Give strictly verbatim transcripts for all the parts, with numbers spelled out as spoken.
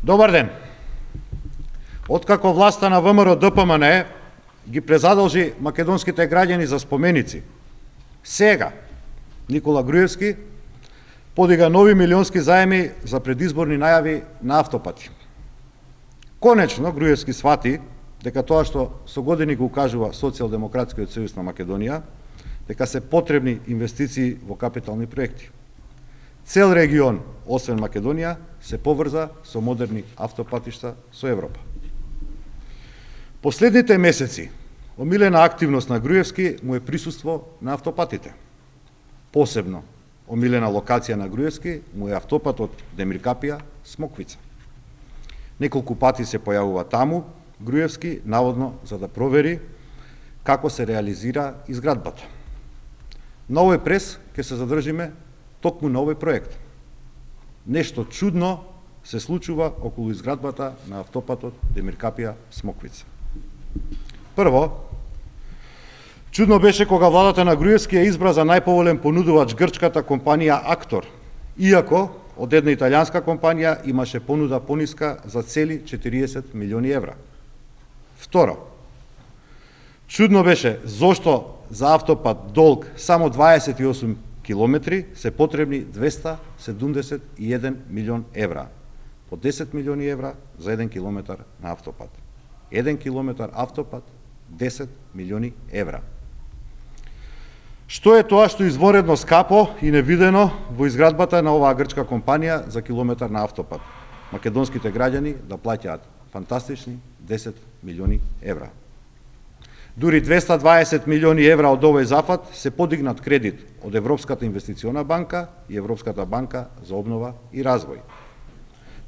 Добар ден. Откако власта на ВМРО Д П М Н ги презадолжи македонските граѓани за споменици, сега Никола Груевски подига нови милионски заеми за предизборни најави на автопати. Конечно, Груевски свати дека тоа што со години го укажува Социјалдемократскиот сојуз на Македонија, дека се потребни инвестиции во капитални проекти. Цел регион, освен Македонија, се поврза со модерни автопатишта со Европа. Последните месеци омилена активност на Груевски му е присуство на автопатите. Посебно омилена локација на Груевски му е автопатот Демиркапија – Смоквица. Неколку пати се појавува таму Груевски, наводно за да провери како се реализира изградбата. На овој прес ќе се задржиме токму на овој проект. Нешто чудно се случува околу изградбата на автопатот Демиркапија – Смоквица. Прво, чудно беше кога владата на Груевски ја избра за најповолен понудувач грчката компанија Актор, иако од една италијанска компанија имаше понуда пониска за цели четириесет милиони евра. Второ, чудно беше зошто за автопат долг само дваесет и осум километри се потребни двеста седумдесет и еден милион евра, по десет милиони евра за еден километар на автопат. Еден километар автопат, десет милиони евра. Што е тоа што изворедно скапо и невидено во изградбата на оваа грчка компанија за километар на автопат? Македонските граѓани да плаќаат фантастични десет милиони евра. Дури двеста дваесет милиони евра од овој зафат се подигнат кредит од Европската инвестициона банка и Европската банка за обнова и развој.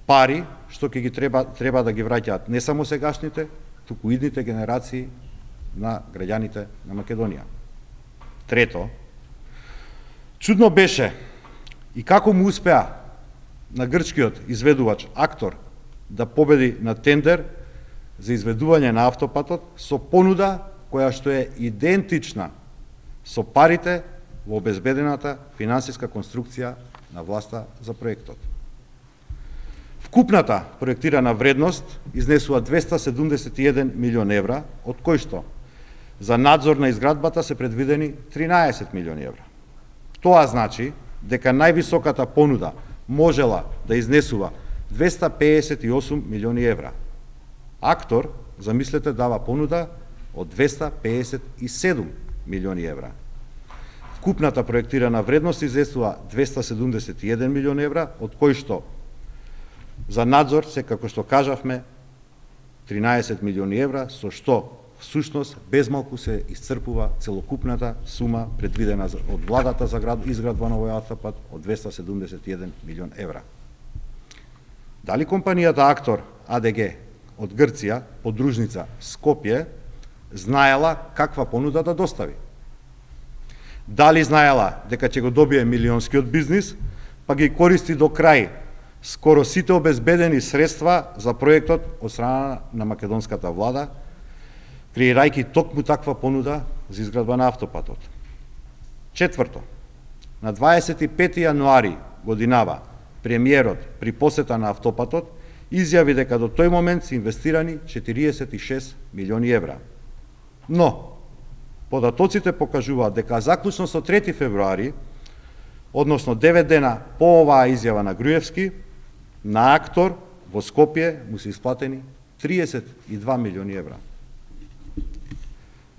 Пари што ќе ги треба треба да ги враќаат не само сегашните, туку идните генерации на граѓаните на Македонија. Трето, чудно беше и како му успеа на грчкиот изведувач Актор да победи на тендер за изведување на автопатот со понуда која што е идентична со парите во обезбедената финансиска конструкција на власта за проектот. Вкупната проектирана вредност изнесува двеста седумдесет и еден милион евра, од кој што за надзор на изградбата се предвидени тринаесет милиони евра. Тоа значи дека највисоката понуда можела да изнесува двеста педесет и осум милиони евра. Актор, замислете, дава понуда од двеста педесет и седум милиони евра. Вкупната проектирана вредност изнесува двеста седумдесет и еден милион евра, од кој што за надзор се, како што кажавме, тринаесет милиони евра, со што всушност безмалку се исцрпува целокупната сума предвидена од владата за изградба на овој автопат од двеста седумдесет и еден милион евра. Дали компанијата Актор А Д Г од Грција, подружница Скопје, знаела каква понуда да достави? Дали знаела дека ќе го добие милионскиот бизнис, па ги користи до крај скоро сите обезбедени средства за проектот од страна на македонската влада, креирајќи токму таква понуда за изградба на автопатот? Четврто, на дваесет и пети јануари годинава премиерот при посета на автопатот изјави дека до тој момент се инвестирани четириесет и шест милиони евра. Но, податоците покажуваат дека заклучно со трети февруари, односно девет дена по оваа изјава на Груевски, на Актор во Скопје му се исплатени триесет и два милиони евра.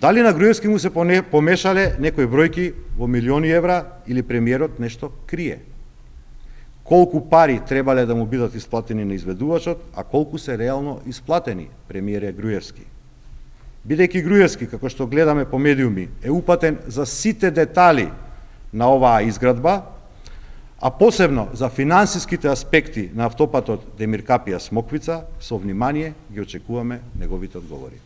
Дали на Груевски му се помешале некои бројки во милиони евра или премиерот нешто крие? Колку пари требале да му бидат исплатени на изведувачот, а колку се реално исплатени, премиере Груевски? Бидејќи Груевски, како што гледаме по медиуми, е упатен за сите детали на оваа изградба, а посебно за финансиските аспекти на автопатот Демиркапија – Смоквица, со внимание ги очекуваме неговите одговори.